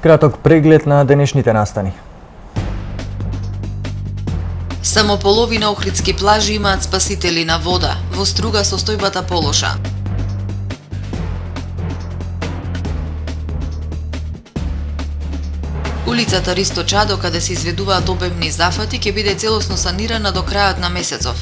Краток преглед на денешните настани. Само половина охридски плажи имаат спасители на вода. Во Струга состојбата полоша. Улицата Ристо Чадо, каде се изведуваат обемни зафати, ќе биде целосно санирана до крајот на месецов.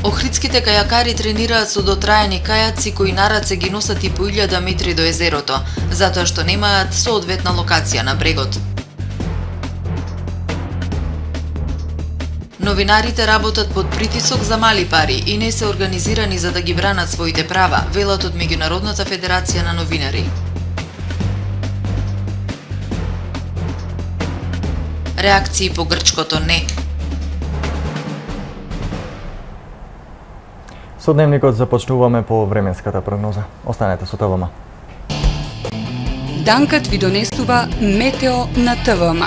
Охридските кајакари тренираат со дотраени кајаци кои на раце ги носат и по 1000 метри до езерото, затоа што немаат соодветна локација на брегот. Новинарите работат под притисок за мали пари и не се организирани за да ги бранат своите права, велат од Меѓународната федерација на новинари. Реакции по грчкото не. Со дневникот започнуваме по временската прогноза. Останете со ТВМ. Данкат ви донесува метео на ТВМ.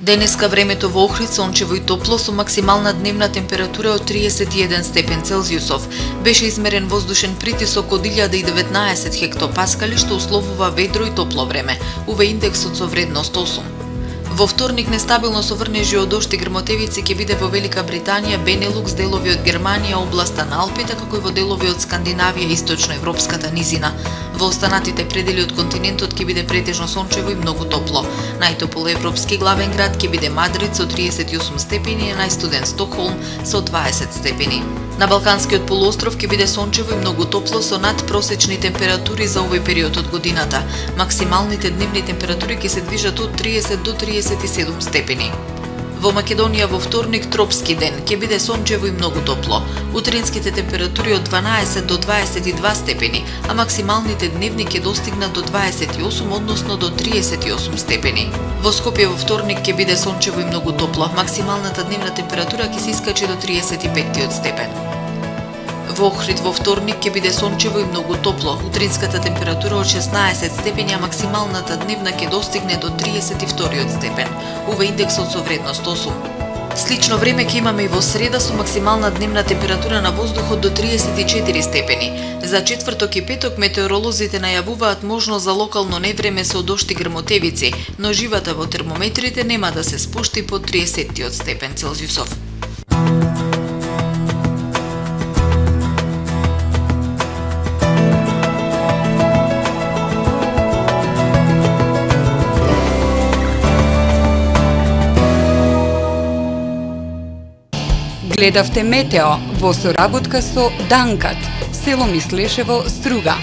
Денеска времето во Охрид сончево и топло со максимална дневна температура од 31 степен Целзиусов. Беше измерен воздушен притисок од 1019 хектопаскали, што условува ведро и топло време. УВ индексот со вредност 8. Во вторник нестабилно со врнежи од дожд и грмотевици ќе биде во Велика Британија, Бенелукс, делови од Германија, областа на Алпите, како и во делови од Скандинавија и источноевропската низина. Во останатите предели од континентот ќе биде претежно сончево и многу топло. Најтопол европски главен град ќе биде Мадрид со 38 степени и најстуден Стокхолм со 20 степени. На Балканскиот полуостров ќе биде сончево и многу топло со надпросечни температури за овој период од годината. Максималните дневни температури ќе се движат од 30 до 37 степени. Во Македонија во вторник тропски ден ќе биде сончево и многу топло. Утринските температури од 12 до 22 степени, а максималните дневни ќе достигнат до 28, односно до 38 степени. Во Скопје во вторник ќе биде сончево и многу топло. Максималната дневна температура ќе се искачи до 35 степен. Во Охрид во вторник ќе биде сончево и многу топло. Утринската температура од 16 степени, а максималната дневна ќе достигне до 32 степен. УВ индексот со вредност 8. Слично време ќе имаме и во среда со максимална дневна температура на воздухот до 34 степени. За четврток и петок метеоролозите најавуваат можност за локално невреме со дожд и грмотевици, но живата во термометрите нема да се спушти под 30 степен Целзиусов. Гледавте метео во соработка со Данкат, село Мислешево, Струга.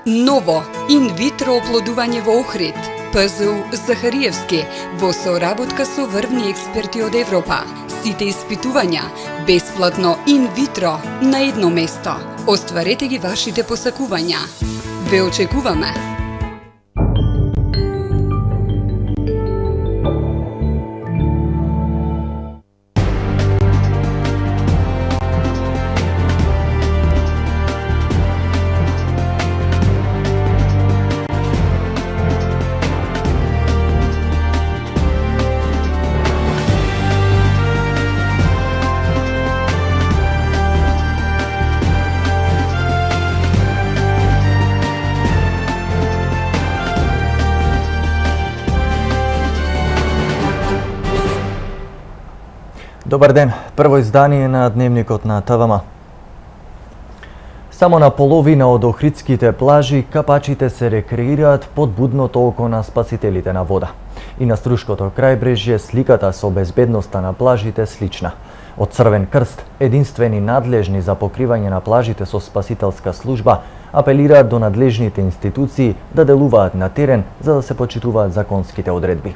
Ново инвитро оплодување во Охрид. ПЗУ Захариевски во соработка со врвни експерти од Европа. Сите испитувања бесплатно инвитро на едно место. Остварете ги вашите посакувања. Ве очекуваме. Добар ден, прво издание на дневникот на ТВМ. Само на половина од охридските плажи капачите се рекреираат под будното око на спасителите на вода. И на Струшкото крајбрежје сликата со безбедноста на плажите слична. Од Црвен крст, единствени надлежни за покривање на плажите со спасителска служба, апелираат до надлежните институции да делуваат на терен за да се почитуваат законските одредби.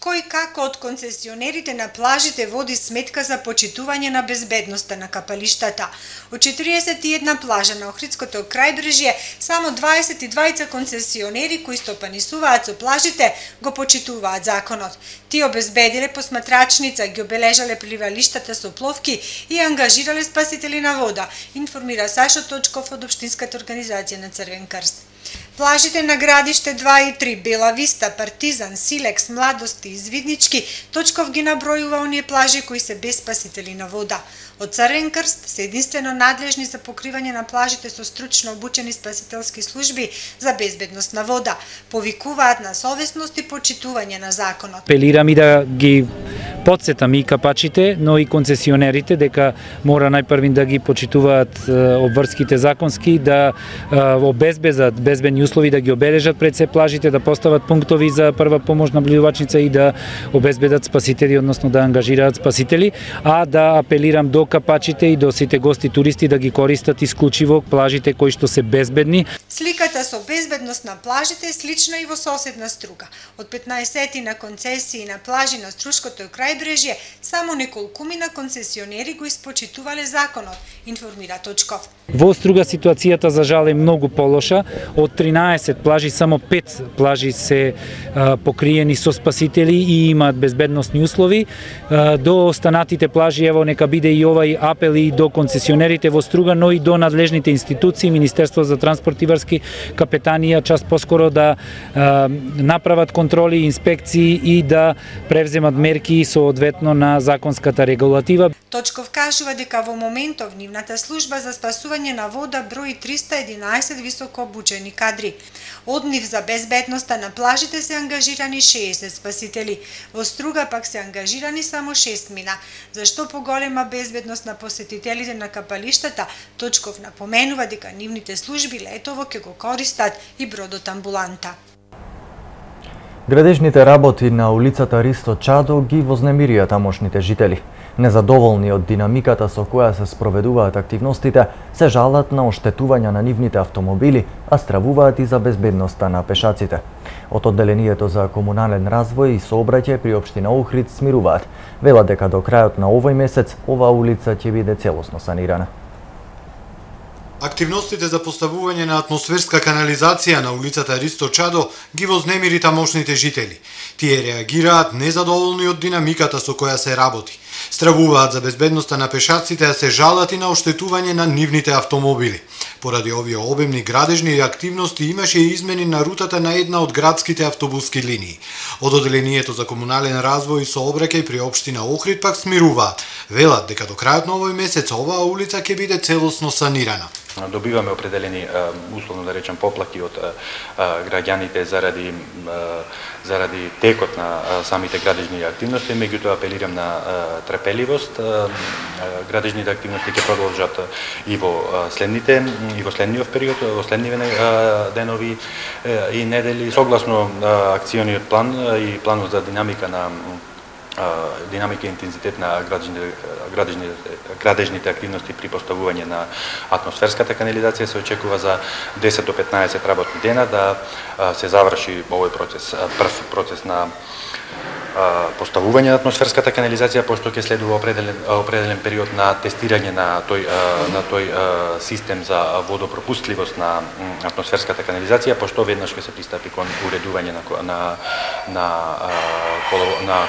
кој како од концесионерите на плажите води сметка за почитување на безбедноста на капалиштата. Од 41 плажа на Охридското крајбрежје, само 22 концесионери кои стопанисуваат со плажите го почитуваат законот. Тие обезбедиле посматрачница, ги обележале пливалиштата со пловки и ангажирале спасители на вода, информира Сашо Точков од Општинската организација на Црвен крст. Плажите на градиште 2 и 3, Бела Виста, Партизан, Силекс, Младости и Звиднички, Точков ги набројува оние плажи кои се без спасители на вода. Од Црвен крст се единствено надлежни за покривање на плажите со стручно обучени спасителски служби за безбедност на вода. Повикуваат на совесност и почитување на законот. Апелирам и да ги подсетам и капачите, но и концесионерите дека мора најпрвин да ги почитуваат обврските законски, да обезбедат безбедни услови, да ги обележат пред се плажите, да постават пунктови за прва помош наблюдувачница и да обезбедат спасители, односно да ангажираат спасители, а да апелирам до капачите и до сите гости туристи да ги користат исклучиво плажите кои што се безбедни. Сликата со безбедност на плажите е слична и во соседна Струга. Од 15 на концесии на плажи на Струшкото крајбрежје, само неколкумина концесионери го испочитувале законот, информира Точков. Во Струга ситуацијата за жал е многу полоша. Од 13 плажи само 5 плажи се покриени со спасители и имаат безбедносни услови. До останатите плажи, ево нека биде и овај апел и до концесионерите во Струга, но и до надлежните институции, Министерство за транспорт и врски, капетанија, час поскоро да направат контроли, инспекции и да превземат мерки соодветно на законската регулатива. Точков кажува дека во моментов нивната служба за спасување на вода брои 311 високо обучени кадри. Од нив за безбедноста на плажите се ангажирани 60 спасители. Во Струга пак се ангажирани само 6 мина. Зашто поголема безбедност на посетителите на капалиштата, Точков напоменува дека нивните служби летово ќе го користат и бродот амбуланта. Градежните работи на улицата Ристо Чадо ги вознемирија тамошните жители. Незадоволни од динамиката со која се спроведуваат активностите, се жалат на оштетување на нивните автомобили, а стравуваат и за безбедноста на пешаците. Од одделението за комунален развој и сообраќај при општина Охрид смируваат. Велат дека до крајот на овој месец оваа улица ќе биде целосно санирана. Активностите за поставување на атмосферска канализација на улицата Ристо Чадо ги вознемири тамошните жители. Тие реагираат незадоволни од динамиката со која се работи. Стравуваат за безбедноста на пешаците, а се жалат и на оштетување на нивните автомобили. Поради овие обемни градежни активности имаше и измени на рутата на една од градските автобуски линии. Од одделението за комунален развој и сообраќај при општина Охрид пак смируваат. Велат дека до крајот на овој месец оваа улица ќе биде целосно санирана. Добиваме определени, условно да речем, поплаки од граѓаните заради текот на самите градежни активности, меѓутоа апелирам на трпеливост. Градежните активности ќе продолжат и во следниот период, во следниве денови и недели, согласно акциониот план и планот за динамика и интензитет на градежните активности при поставување на атмосферската канализација се очекува за 10 до 15 работни дена да се заврши овој процес, прв процес на поставување на атмосферската канализација, пошто ќе следува определен период на тестирање на тој систем за водопропустливост на атмосферската канализација, пошто веднаш ќе се пристапи кон уредување на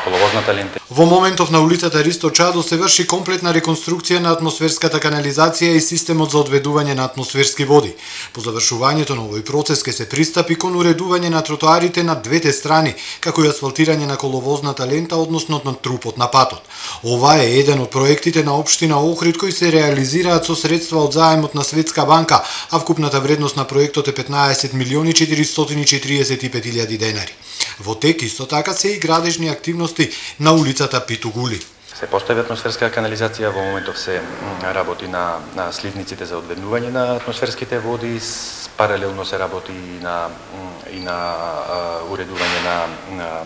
коловозната лента. Во моментов на улицата Ристо Чадо се врши комплетна реконструкција на атмосферската канализација и системот за одведување на атмосферски води. По завршувањето на овој процес ќе се пристапи кон уредување на тротоарите на двете страни, како и асфалтирање на коловозната лента, односно на трупот на патот. Ова е еден од проектите на општина Охрид кои се реализираат со средства од заемот на Светска банка, а вкупната вредност на проектот е 15.445.000 денари. Во тек исто така се и градежни активности на улицата Питугули. Се постави атмосферска канализација, во моментов се работи на сливниците за одведнување на атмосферските води, паралелно се работи и на уредување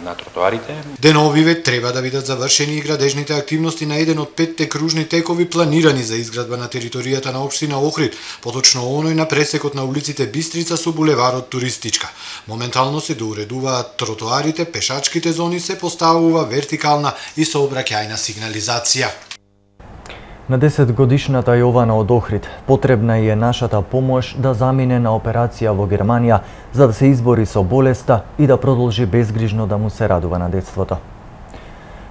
на тротоарите. Деновиве треба да бидат завршени и градежните активности на еден од 5 кружни текови планирани за изградба на територијата на општина Охрид, поточно оној на пресекот на улиците Бистрица со булеварот Туристичка. Моментално се доуредуваат тротоарите, пешачките зони, се поставува вертикална и сообраќајна сигнализација. На 10-годишната Јована од Охрид потребна е нашата помош да замине на операција во Германија за да се избори со болеста и да продолжи безгрижно да му се радува на детството.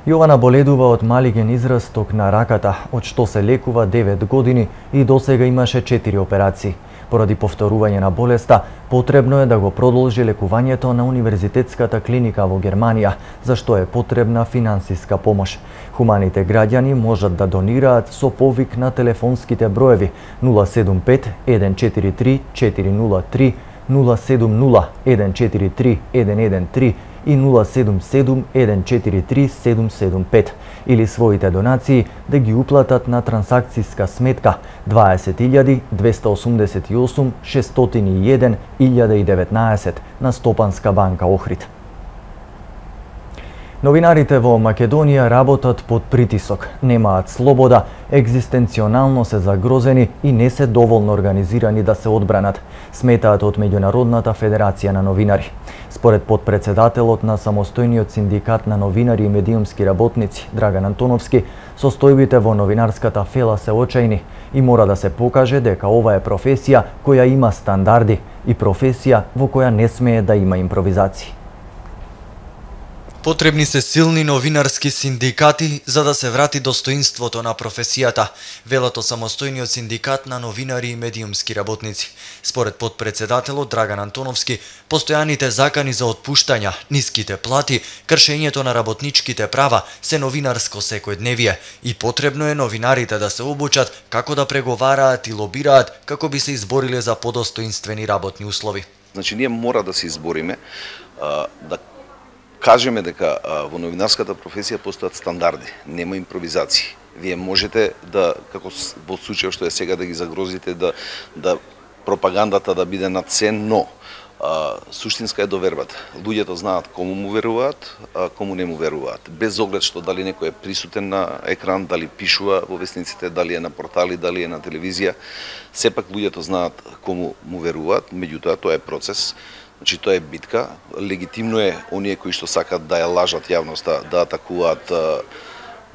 Јована боледува од малиген израсток на раката, од што се лекува 9 години и досега имаше 4 операции. Поради повторување на болеста, потребно е да го продолжи лекувањето на Универзитетската клиника во Германија, за што е потребна финансиска помош. Хуманите граѓани можат да донираат со повик на телефонските броеви 075 143 403, 070 143 113 и 077 143 775 или своите донации да ги уплатат на трансакцијска сметка 20.288 601 1019 на Стопанска банка Охрид. Новинарите во Македонија работат под притисок, немаат слобода, екзистенционално се загрозени и не се доволно организирани да се одбранат, сметаат од Меѓународната федерација на новинари. Според подпредседателот на самостојниот синдикат на новинари и медиумски работници Драган Антоновски, состојбите во новинарската фела се очајни и мора да се покаже дека ова е професија која има стандарди и професија во која не смее да има импровизации. Потребни се силни новинарски синдикати за да се врати достоинството на професијата, велат самостојниот синдикат на новинари и медиумски работници. Според подпредседателот Драган Антоновски, постојаните закани за отпуштања, ниските плати, кршењето на работничките права се новинарско секојдневие и потребно е новинарите да се обучат како да преговараат и лобираат како би се избориле за подостоинствени работни услови. Значи ние мора да се избориме да кажеме дека во новинарската професија постојат стандарди, нема импровизации. Вие можете да, како во случајот што е сега, да ги загрозите, да пропагандата да биде над се, но суштинска е довербата. Луѓето знаат кому му веруваат, а кому не му веруваат. Без оглед што дали некој е присутен на екран, дали пишува во весниците, дали е на портали, дали е на телевизија, сепак луѓето знаат кому му веруваат, меѓутоа тоа е процес. Значи тоа е битка, легитимно е оние кои што сакат да ја лажат јавноста, да атакуваат,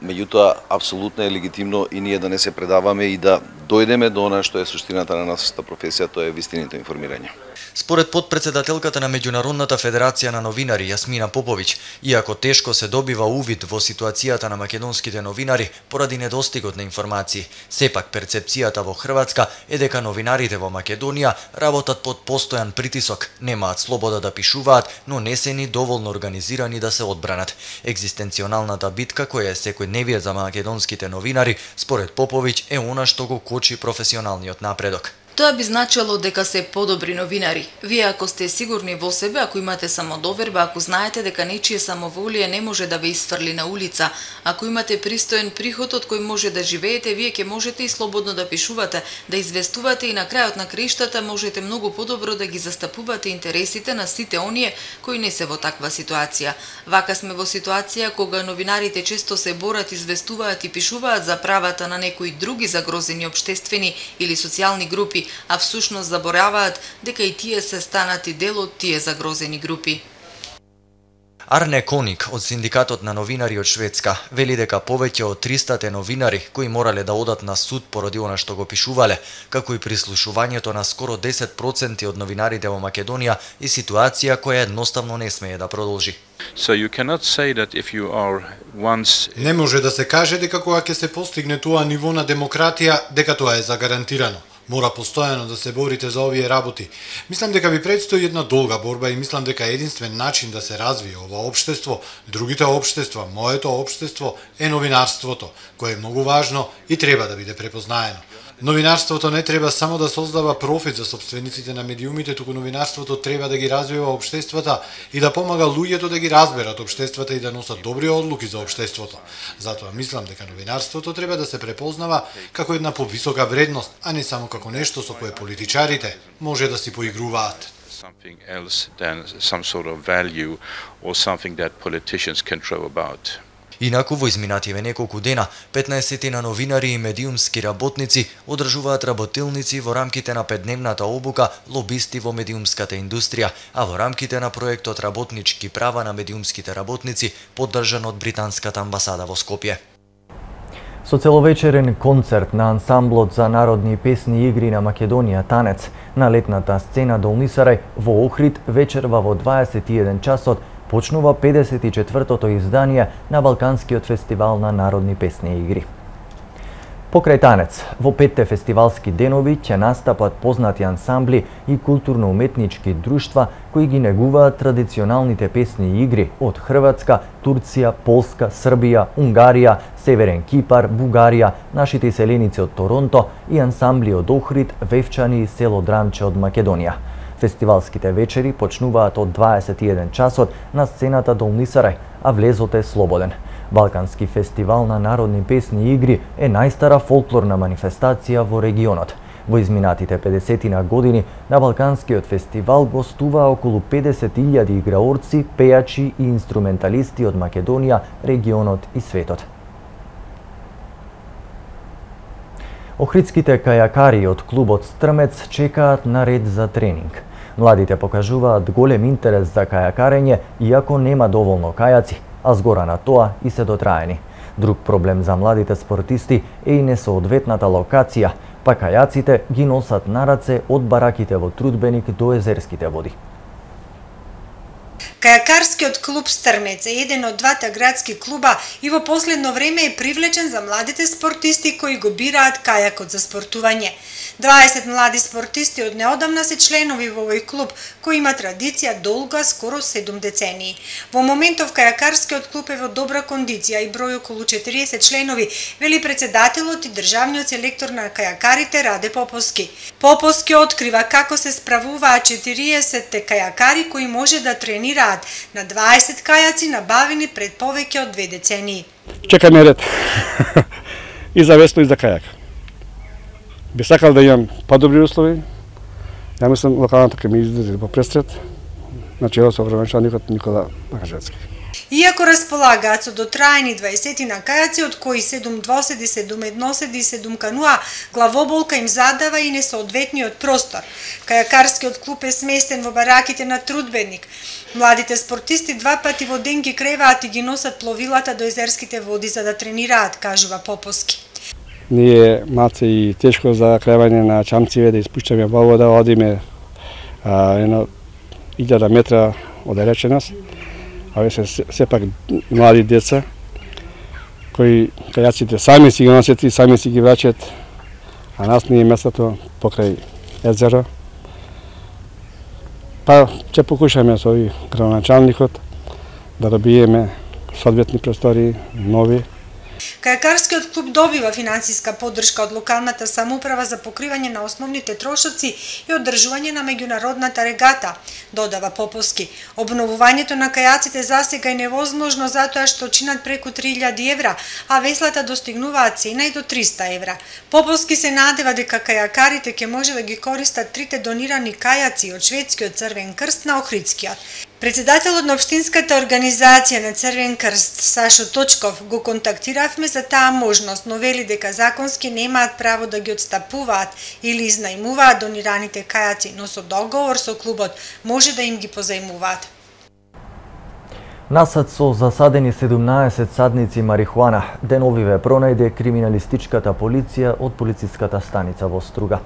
меѓутоа апсолутно е легитимно и ние да не се предаваме и да дојдеме до она што е суштината на нашата професија, тоа е вистинито информирање. Според подпредседателката на Меѓународната федерација на новинари Јасмина Поповиќ, иако тешко се добива увид во ситуацијата на македонските новинари поради недостигот на информации, сепак перцепцијата во Хрватска е дека новинарите во Македонија работат под постојан притисок, немаат слобода да пишуваат, но не се ни доволно организирани да се одбранат. Екзистенционалната битка која е секојдневие за македонските новинари, според Поповиќ, е она што го кочи професионалниот напредок. Тоа би значило дека се подобри новинари. Вие ако сте сигурни во себе, ако имате самодоверба, ако знаете дека нечие самоволие не може да ве изфрли на улица, ако имате пристоен приход од кој може да живеете, вие ќе можете и слободно да пишувате, да известувате и на крајот на криштата можете многу подобро да ги застапувате интересите на сите оние кои не се во таква ситуација. Вака сме во ситуација кога новинарите често се борат, известуваат и пишуваат за правата на некои други загрозени општествени или социјални групи, а всушност забораваат дека и тие се станати дел од тие загрозени групи. Арне Коник од Синдикатот на новинари од Шведска вели дека повеќе од 300 новинари кои морале да одат на суд поради она што го пишувале, како и прислушувањето на скоро 10% од новинарите во Македонија и ситуација која едноставно не смее да продолжи. So you cannot say that if you are once... Не може да се каже дека кога ќе се постигне тоа ниво на демократија, дека тоа е загарантирано. Мора постојано да се борите за овие работи. Мислам дека ви предстои една долга борба и мислам дека единствен начин да се развие ова општество, другите општества, моето општество е новинарството, кое е многу важно и треба да биде препознаено. Новинарството не треба само да создава профит за сопствениците на медиумите, туку новинарството треба да ги развива општествата и да помага луѓето да ги разберат општествата и да носат добри одлуки за општеството. Затоа мислам дека новинарството треба да се препознава како една повисока вредност, а не само како нешто со кое политичарите може да си поигруваат. Something else than some sort of value or something that politicians can throw about. Инаку во изминативе неколку дена, 15 на новинари и медиумски работници одржуваат работилници во рамките на 5-дневната обука лобисти во медиумската индустрија, а во рамките на проектот Работнички права на медиумските работници, поддржан од британската амбасада во Скопје. Со целовечерен концерт на ансамблот за народни песни и игри на Македонија Танец на летната сцена Долнисарај во Охрид вечерва во 21 часот почнува 54-тото издание на Балканскиот фестивал на народни песни и игри. Покрај Танец, во 5-те фестивалски денови ќе настапат познати ансамбли и културно-уметнички друштва кои ги негуваат традиционалните песни и игри од Хрватска, Турција, Полска, Србија, Унгарија, Северен Кипар, Бугарија, нашите селеници од Торонто и ансамбли од Охрид, Вевчани и село Драмче од Македонија. Фестивалските вечери почнуваат од 21 часот на сцената Долнисарај, а влезот е слободен. Балкански фестивал на народни песни и игри е најстара фолклорна манифестација во регионот. Во изминатите 50 години на Балканскиот фестивал гостуваа околу 50.000 играорци, пејачи и инструменталисти од Македонија, регионот и светот. Охридските кајакари од клубот Стрмец чекаат на ред за тренинг. Младите покажуваат голем интерес за кајакарење, иако нема доволно кајаци, а згора на тоа и се дотраени. Друг проблем за младите спортисти е и несоодветната локација, па кајаците ги носат на раце од бараките во Трудбеник до езерските води. Кајакарскиот клуб Стрмец е еден од двата градски клуба и во последно време е привлечен за младите спортисти кои го бираат кајакот за спортување. 20 млади спортисти од неодамна се членови во овој клуб, кој има традиција долга скоро 7 децении. Во моментов кајакарскиот клуб е во добра кондиција и број околу 40 членови, вели председателот и државниот селектор на кајакарите Раде Поповски. Поповски открива како се справуваат 40 кајакари кои може да тренираат на 20 кајаци набавени пред повеќе од 2 децении. Чекаме ред и за весло и за кајак. Би сакал да имам подобри услови. Ја мислам локалната ќе ми излезе по престрет. Значи ево со враменчаникот Никола Макажевски. Иако располагаат со дотраени 20 на кајаци, од кои 7 двоседи, 7 едноседи и 7 кануа, главоболка им задава и несоодветниот простор. Кајакарскиот клуб е сместен во бараките на Трудбеник. Младите спортисти 2 пати во ден ги креваат и ги носат пловилата до езерските води за да тренираат, кажува Поповски. Ние малце и тешко за кревање на чамциве, да испуштаме во вода, одиме едно 1000 метра оддалеченост. Овие се сепак млади деца кои кајаците сами си ги носат и сами си ги враќаат, а нас не е местото покрај езеро. Па ќе покушаме со овој градоначалникот да добиеме соодветни простори, нови. Кајакарскиот клуб добива финансиска поддршка од локалната самоуправа за покривање на основните трошоци и одржување на меѓународната регата, додава Поповски. Обновувањето на кајаците засега е невозможно затоа што чинат преку 3000 евра, а веслата достигнуваат цена и до 300 евра. Поповски се надева дека кајакарите ќе може да ги користат 3 донирани кајаци од шведскиот Црвен крст на Охридскиот. Председателот на Општинската организација на Црвен крст, Сашо Точков, го контактиравме за таа можност, но вели дека законски немаат право да ги отстапуваат или изнајмуваат донираните кајаци, но со договор со клубот може да им ги позајмуваат. Насад со засадени 17 садници марихуана деновиве пронајде криминалистичката полиција од полициската станица во Струга.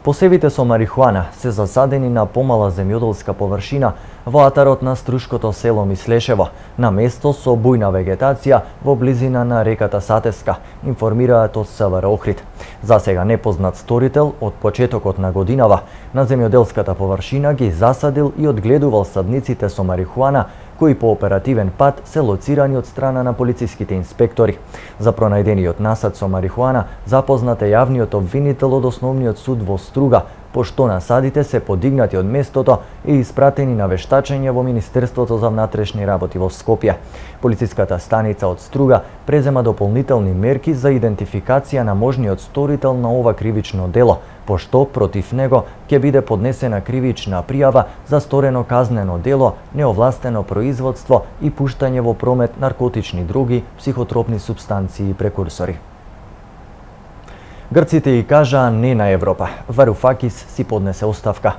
Посевите со марихуана се засадени на помала земјоделска површина во атарот на струшкото село Мислешево, на место со бујна вегетација во близина на реката Сатеска, информираат од СВР Охрид. За сега непознат сторител од почетокот на годинава на земјоделската површина ги засадил и одгледувал садниците со марихуана кои по оперативен пат се лоцирани од страна на полициските инспектори. За пронајдениот насад со марихуана запознат е јавниот обвинител од Основниот суд во Струга, пошто насадите се подигнати од местото и испратени на вештачење во Министерството за внатрешни работи во Скопје. Полициската станица од Струга презема дополнителни мерки за идентификација на можниот сторител на ова кривично дело, пошто против него ќе биде поднесена кривична пријава за сторено казнено дело, неовластено производство и пуштање во промет наркотични други, психотропни супстанции и прекурсори. Грците и кажаа не на Европа. Варуфакис си поднесе оставка.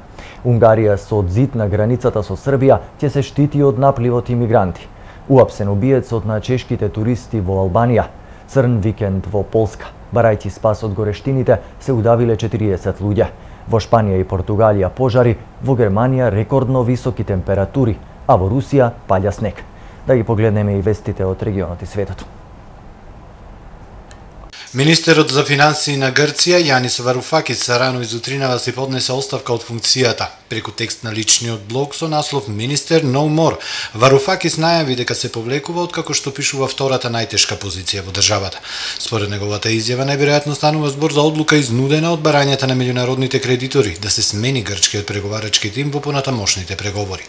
Унгарија со зид на границата со Србија ќе се штити од напливот имигранти. Уапсен убиецот на чешките туристи во Албанија. Црн викенд во Полска. Барајќи спас од горештините, се удавиле 40 луѓе. Во Шпанија и Португалија пожари, во Германија рекордно високи температури, а во Русија паѓа снег. Да ги погледнеме и вестите од регионот и светот. Министерот за финансии на Грција, Јанис Варуфакис, рано изутринава си поднесе оставка од функцијата. Преку текст на личниот блог со наслов Министер No More, Варуфакис најави дека се повлекува откако што пишува втората најтешка позиција во државата. Според неговата изјава, најверојатно станува збор за одлука изнудена од барањата на меѓународните кредитори да се смени грчкиот преговарачки тим во понатамошните преговори.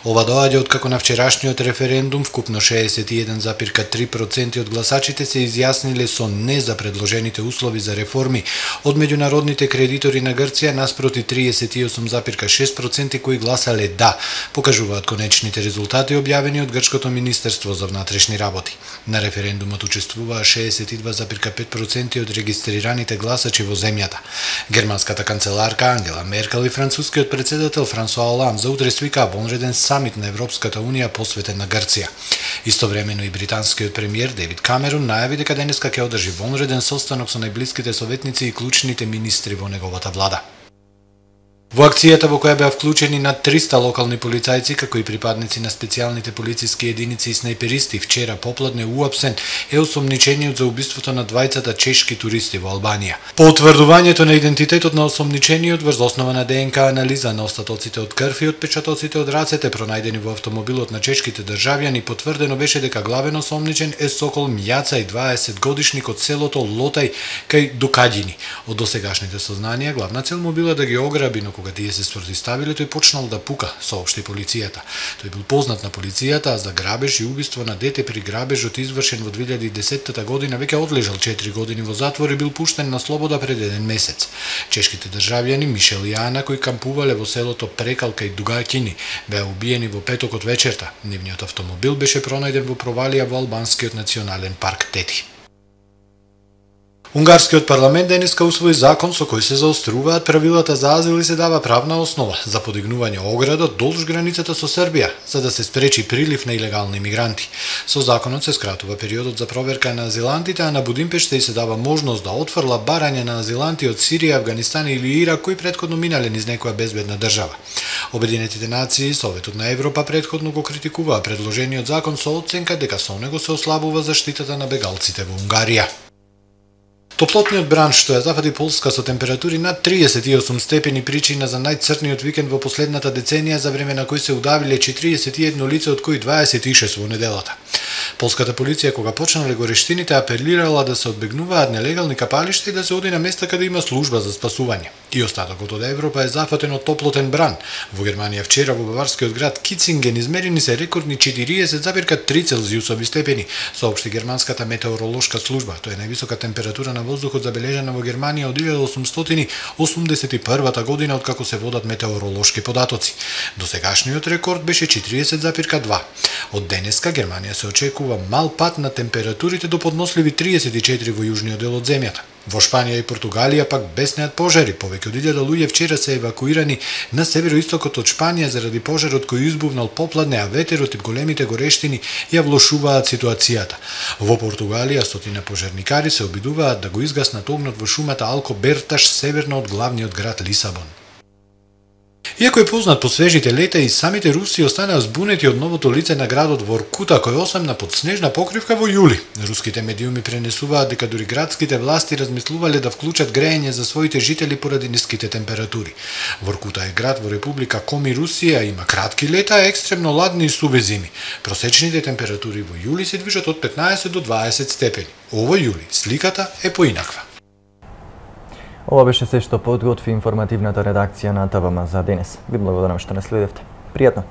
Ова доаѓа откако на вчерашниот референдум вкупно 61,3% од гласачите се изјасниле со не за предложените услови за реформи од меѓународните кредитори на Грција наспроти 38,6% кои гласале да, покажуваат конечните резултати објавени од Грчкото Министерство за внатрешни работи. На референдумот учествуваа 62,5% од регистрираните гласачи во земјата. Германската канцеларка Ангела Меркел и францускиот председател Франсуа Оланд за утре свикаа вонреден самит на Европската унија посветен на Грција. Истовремено и британскиот премиер Девид Камерун најави дека денеска ќе одржи вонреден состанок со најблиските советници и клучните министри во неговата влада. Во акцијата во која беа вклучени над 300 локални полицајци, како и припадници на специјалните полициски единици и снайперисти, вчера попладне уапсен е осомничениот за убиството на двајцата чешки туристи во Албанија. По утврдувањето на идентитетот на осомничениот врз основа на ДНК анализа на остатоците од крв и отпечатоците од рацете пронајдени во автомобилот на чешките државјани, потврдено беше дека главен осомничен е Сокол Мјаца и 20 годишник од селото Лотај кај Дукаѓини. Од досегашните сознанија главна цел му била да ги ограби, но кога тие се спротивставиле, тој почнал да пука, соопшти полицијата. Тој бил познат на полицијата, а за грабеж и убиство на дете при грабежот извршен во 2010 година веќе одлежал 4 години во затвор и бил пуштен на слобода пред 1 месец. Чешките државјани Мишел и Ана, кои кампувале во селото Прекалка и Дугакини, беа убиени во петокот вечерта. Нивниот автомобил беше пронајден во провалија во албанскиот национален парк Тети. Унгарскиот парламент денеска усвои закон со кој се заоструваат правилата за азил и се дава правна основа за подигнување ограда долж границата со Србија, за да се спречи прилив на илегални мигранти. Со законот се скратува периодот за проверка на азилантите, а на Будимпешта и се дава можност да отфрла барање на азиланти од Сирија, Авганистан или Ирак кои претходно минале низ некоја безбедна држава. Обединетите нации и Советот на Европа претходно го критикуваа предложениот закон со оценка дека со него се ослабува заштитата на бегалците во Унгарија. Топлотниот бранш што ја зафати Полска со температури над 38 степени причина за најцрниот викенд во последната деценија, за време на кој се удавиле 41 лица, од кои 26 во неделата. Полската полиција, кога почнале горештините, апелирала да се одбегнуваат нелегални капалишта и да се оди на места каде има служба за спасување. И остатокот од Европа е зафатен од топлотен бран. Во Германија вчера во баварскиот град Кицинген измерени се рекордни 40,3 целзиусови степени, соопшти германската метеоролошка служба. Тоа е највисока температура на воздухот забележана во Германија од 1881 година, откако се водат метеоролошки податоци. Досегашниот рекорд беше 40,2. Од денеска Германија се очекува мал пат на температурите до подносливи 34 во јужниот дел од земјата. Во Шпанија и Португалија пак беснеат пожари. Повеќе од 1000 луѓе вчера се евакуирани на североистокот од Шпанија заради пожарот кој избувнал попладне, а ветерот и големите горештини ја влошуваат ситуацијата. Во Португалија стотина пожарникари се обидуваат да го изгаснат огнот во шумата Алкоберташ северно од главниот град Лисабон. Иако е познат по свежите лета, и самите руси останаа збунети од новото лице на градот Воркута, кој осамна под снежна покривка во јули. Руските медиуми пренесуваат дека дури градските власти размислувале да вклучат грејење за своите жители поради ниските температури. Воркута е град во Република Коми, Русија, има кратки лета, екстремно ладни и суви зими. Просечните температури во јули се движат од 15 до 20 степени. Овој јули сликата е поинаква. Ова беше се што подготви информативната редакција на ТВМ за денес. Ви благодарам што не следевте. Пријатно!